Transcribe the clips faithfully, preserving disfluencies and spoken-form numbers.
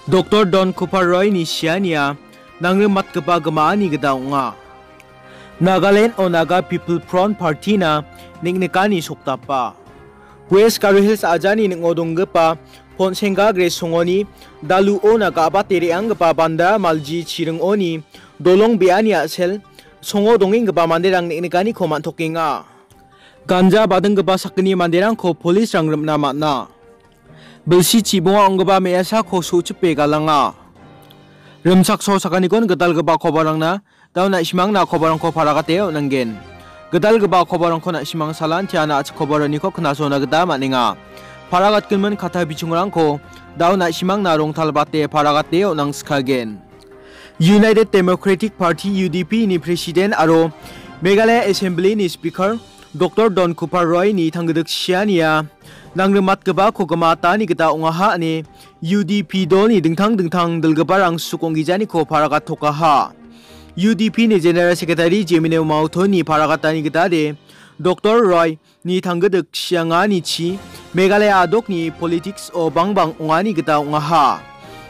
Doktor Don Kupar Roy-ni siania nangrimatgipa gimaani gita ong·a. Nagaland-o Naga People Front Party-na neng·nikani sokdapa. West Garo Hills ajani ning·o donggipa Ponsengga Gres songoni daluo Naga abate re·anggipa Banda Malji chiringoni dolong be·ani a·sel songo dongenggipa manderang neng·nikaniko man·tokenga. Ganja badinggipa sakgni manderangko polisrang rimna man·a. Bilsi chibonga ong·gipa me·asako so·chipe galanga. Rimchakso sakanikon gitalgipa kobarangna dao na·simangna kobarangko paragate on·angen. Gitalgipa kobarangko na·simang salantiana a·chik kobaraniko knasona gita man·enga. Paragatgimin katta bichongrangko dao na·simangna rongtalbate paragate on·angskagen. United Democratic Party, U D P, ni President aro Meghalaya Assembly-ni Speaker Doktor Don Kupar Roy-ni tanggidik siania nangrimatgipako gimatani gita ong·aha ine U D P dolni dingtang dingtang dilgiparang suk ong·gijaniko paragatokaha. U D P-ni General Secretary Jemino Mauto-ni paragatani gitade Doktor Roy-ni tanggidik sianganichi Meghalaya adokni politics-o bangbang ong·ani gita ong·aha.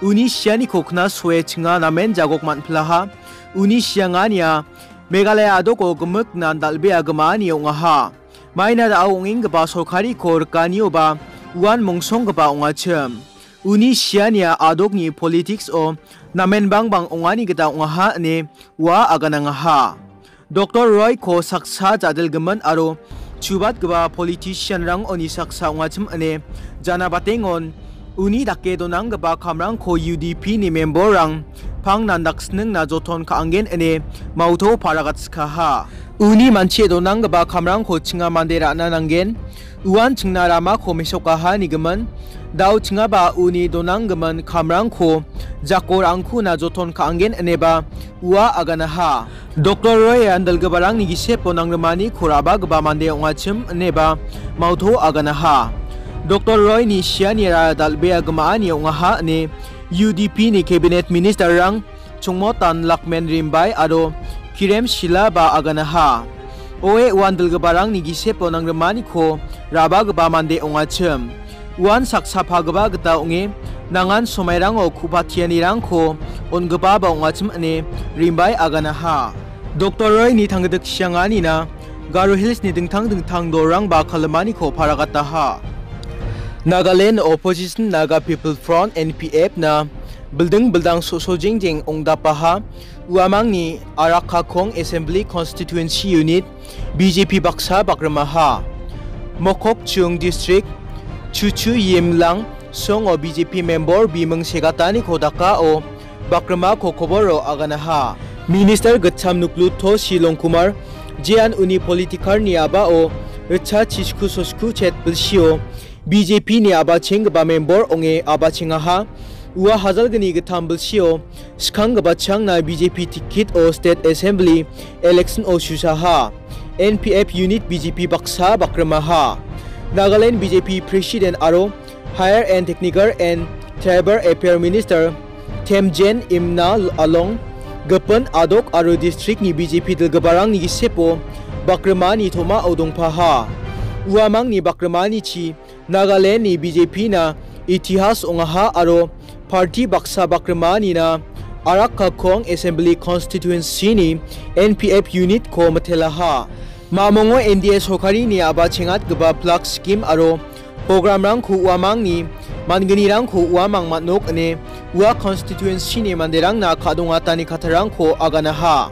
Uni sianiko knasoe chinga namen jagok man·pilaha. Uni siangania Meghalaya adoko gimiknan dal·bea gimaani ong·aha. Maina da·o ong·enggipa sorkariko rikanioba uan mongsonggipa ong·achim. Uni siania adokni politics-o namen bangbang ong·ani gita ong·aha ine ua aganangaha. Doktor Roy-ko saksa ja·dilgimin aro chubatgipa politician-rangoni saksa ong·achim ine janabatengon uni dake donanggipa kamrangko U D P-ni member-rang pangnan daksningna joton ka·angen ine Mauto paragatskaha. Uni manchie donanggipa kamrangko chinga mande ra·na nanggen. Uan chingna ramako mesokaha nigimin. Dao chingaba uni donanggimin kamrangko jako ra·angkuna joton ka·angen ineba ua aganaha. Doktor Roy-an dilgiparangni gisepo nangrimaniko ra·bagipa mande ong·achim ineba Mauto aganaha. Doktor Roy-ni sianira dal·bea gimaani ong·aha ine U D P-ni cabinet minister-rang Chongmotan Lakmen Rimbai aro Kirem Shila ba aganaha. Oe uan dilgiparangni gisepo nangrimaniko ra·bagipa mande ong·achim. Uan saksa pagipa gita ong·e, nangan somairango ku·patianirangko on·gipaba ong·achim ine Rimbai aganaha. Doktor Roy-ni tanggidik sianganina Garo Hills-ni dingtang dingtang dolrangba kalimaniko paragataha. Nagaland Opposition Naga People Front, N P F-na bilding bildang so·so jengjeng ong·dapaha uamangni Arakkakong Assembly Constituency Unit B J P baksa bakrimaha. Mokokchung District Chuchu Yimlang songo B J P member biming segataniko dakao bakrimako koboro aganaha. Minister Gitcham Nukluto Silongkumar jean uni politikarni a·bao ritcha chisku sosku chet bilsio B J P-ni a·bachenggipa member ong·e a·bachengaha. Ua hajalgni gittam bilsio skanggipa changna B J P ticket-o State Assembly election-o susaha. N P F unit B J P baksa bakrimaha. Nagaland B J P President aro Higher and Technical and Tribal Affair Minister Temjen Imna along gipin adok aro district-ni B J P dilgiparangni gisepo bakrimani tom·ao dongpaha. Uamangni bakrimanichi Nagaland-ni B J P-na itihas ong·aha aro party baksa bakrimanina Arakkakong Assembly Constituency-ni N P F unit-ko mitelaha. Mamongo N D A sorkarini a·bachengatgipa flag scheme aro programrangko uamangni man·gnirangko uamang man·ok ine ua constituency-ni manderangna ka·dongatani kattarangko aganaha.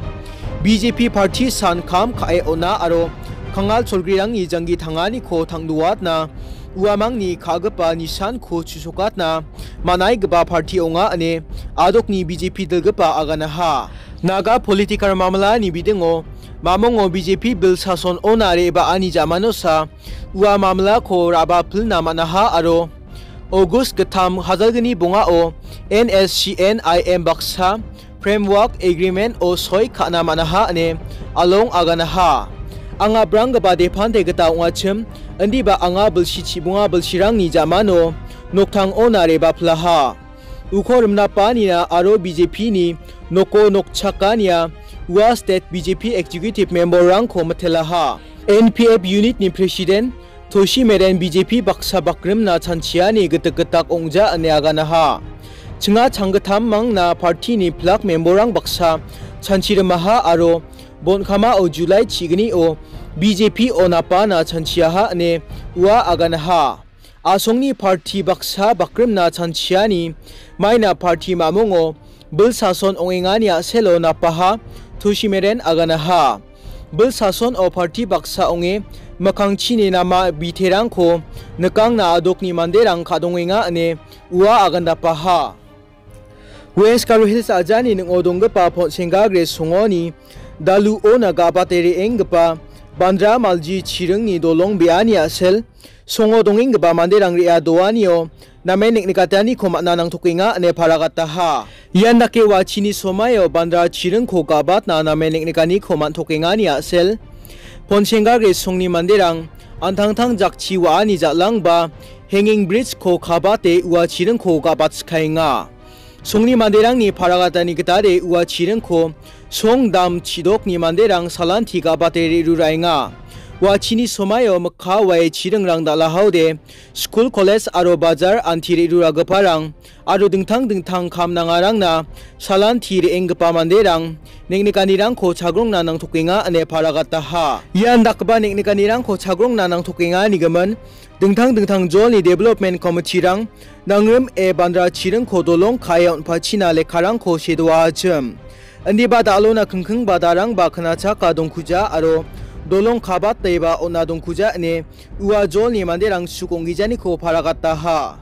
B J P party san kam ka·e on·a aro kangal cholgrirangni janggi tanganiko tangdoatna uamangni ka·gipa nisanko chusokatna man·aigipa party ong·a ine adokni B J P dilgipa aganaha. Naga political mamlani bidingo mamongo B J P bil sason ona re·baani jamanosa ua mamlako ra·bapilna man·aha aro August gittam hajalgni bongao N S C N I M baksa Framework Agreement-o soi ka·na man·aha ine along aganaha. Anga branggipa depante gita ong·achim, indiba anga bilsi chibonga bilsirangni jamano noktangona re·bapilaha. Uko rimnapanina aro B J P-ni noko nokchakania ua state B J P executive member-rangko mitelaha. N P F unit-ni president Toshi Meren B J P baksa bakrimna chanchiani gitik gitak ong·ja ine aganaha. Chinga changgitammangna partini pilak memborrang baksa chanchirimaha aro bonkamao July chignio B J P-o napana chanchiaha ine ua aganaha. Asongni parti baksa bakrimna chanchiani maina parti mamongo bil sason ong·engani a·selo napaha Toshimeren aganaha. Bil sason o parti baksa ong·e mikkangchini nama biterangko nikangna adokni manderang ka·dongenga ine ua agandapaha. West Garo Hills ajani ning·o donggipa Ponsengga Gres songoni daluona ga·bate re·enggipa Bandra Malji chiringni dolong be·ani a·sel songo dongenggipa manderang re·a doanio namen niknikataniko man·a nangtokenga ine paragataha. Ian dake uachini somaio Bandra chiringko ga·batna namen niknikaniko man·tokengani a·sel Ponsengga Gres songni manderang antangtang jakchi wa·ani jal·angba hanging bridge-ko kabate ua chiringko ga·batskaenga. Songni manderangni paragatani gitade ua chiringko song dam chidokni manderang salanti ga·bate re·ruraenga. Uachini somaio mikka wae chiringrang dal·ahaode skul, kolej aro bajar anti re·ruragiparang aro dingtang dingtang kam nangarangna salanti re·enggipa manderang niknikanirangko chagrongna nangtokenga ine paragataha. Ian dakgipa niknikanirangko chagrongna nangtokenga nigimin dingtang dingtang jolni development committee-rang nangrim e Bandra chiringko dolong ka·e on·pachina lekkarangko sedoachim. Indiba dal·ona kingkingba darangba knachaka dongkuja aro dolong kabateba on·a dongkuja ine ua jolni manderang suk ong·gijaniko paragataha.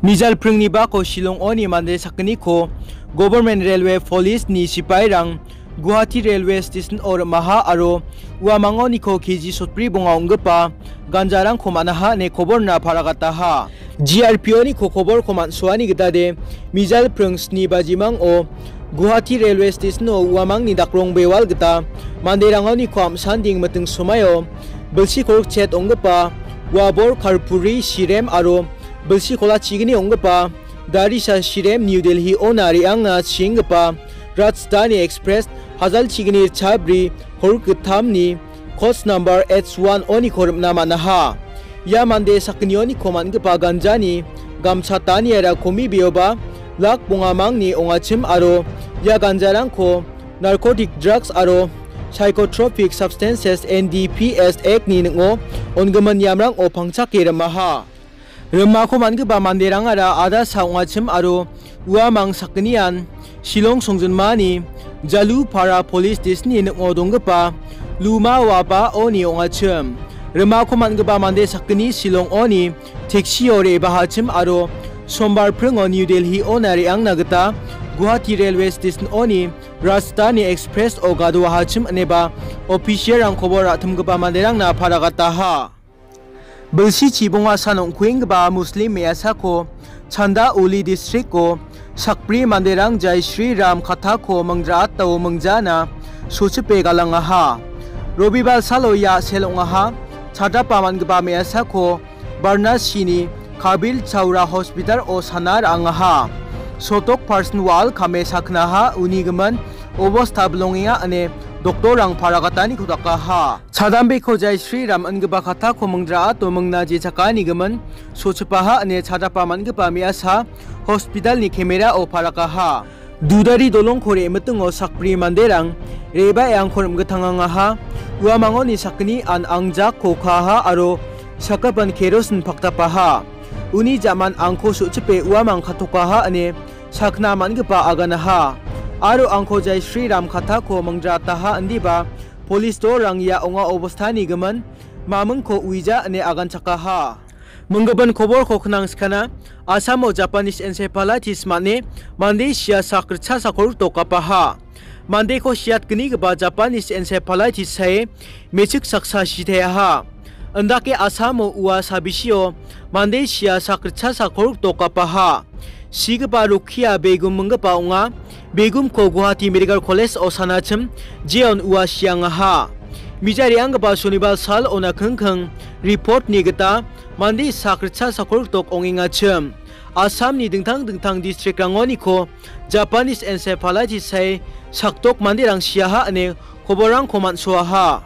Mijal pringni bako Shillong-oni mande sakgniko Government Railway Police-ni sipairang Guwahati Railway Station-o rim·aha aro uamangoniko K G sotbri bonga ong·gipa ganjarangko man·aha ine koborna paragataha. G R P-oniko koborko man·soani gitade mijal pring sni bajimango Guwahati Railway Station-o uamangni dakrong bewal gita manderangoniko am·sanding miting somaio bilsi kolgrik chet ong·gipa uabor karpuri sirem aro bilsi kolachigini ong·gipa darisa sirem New Delhi-ona re·angna chienggipa Rajdhani Express hajalchigini chabri kolgrik gittamni coach number H one-oniko rim·na man·aha. Ia mande sakgnioniko man·gipa ganjani gamchataniara komibeoba lak bongamangni ong·achim aro ia ganjarangko Narcotic Drugs aro Psychotropic Substances, N D P S Act-ni ning·o on·gimin niamrango pangchake rim·aha. Rimako man·gipa manderangara adasa ong·achim aro uamang sakgnian Shillong songjinmani Jalupara Police Station-ni ning·o donggipa Luma Waba-oni ong·achim. Rimako man·gipa mande sakgni Shillong-oni taxi-o re·bahachim aro Sombar pringo New Delhi-ona re·angna gita Guwahati Railway Station-oni Rajdhani Express-o gadoahachim ineba official-rangkoba ra·timgipa manderangna paragataha. Bilsi chibonga san ong·kuenggipa Muslim me·asako Chanda Uli district-o sakbri manderang Jai Shri Ram kattako mingja·atao mingjana sochipe galangaha. Robibar salo ia sel ong·aha. Chadapa man·gipa me·asako Varanasi-ni Kabil Chaura Hospital-o sana ra·angaha. Sotok person wal kame sakgnaha uni gimin obosta bilongenga ine doktorrang paragataniko dakaha. Chadambeko Jai Shri Ram ingipa kattako mingjra·ato mingna jechakani gimin sochipaha ine chadapa man·gipa me·asa hospital-ni camera-o parakaha. Dudari dolongko re·mitingo sakbri manderang re·baeangko rim·gitangangaha. Uamangoni sakgni an angjakko kaaha aro sakgipan kerosin paktapaha. Uni ja·man angko so·chipe uamang katokaha ine sakna man·gipa aganaha. Aro angko Jai Shri Ram kattako mingjra·ataha indiba, polis dorang ia ong·a obostani gimin mamingko uija ine aganchakaha. Minggipa koborko knangskana, Asamo Japanese encephalitis man·e mande sia sak ritchasa kolgrikdok gapaha. Mandeko siatgnigipa Japanese encephalitis sae me·chik saksa siteaha. Indake Asamo ua sabisio mande sia sak ritchasa kolgrikdok gapaha. Sigipa rokkia begum minggipa ong·a. Begumko Guwahati Medical College-o sanachim jeon ua siangaha. Mija re·anggipa Sonibar sal ona kingking report-ni gita mande sak ritchasa kolgrikdok ong·engachim. Assamni dingtang dingtang district-rangoniko Japanese encephalitis sae sakdok manderang siaha ine koborrangko man·soaha.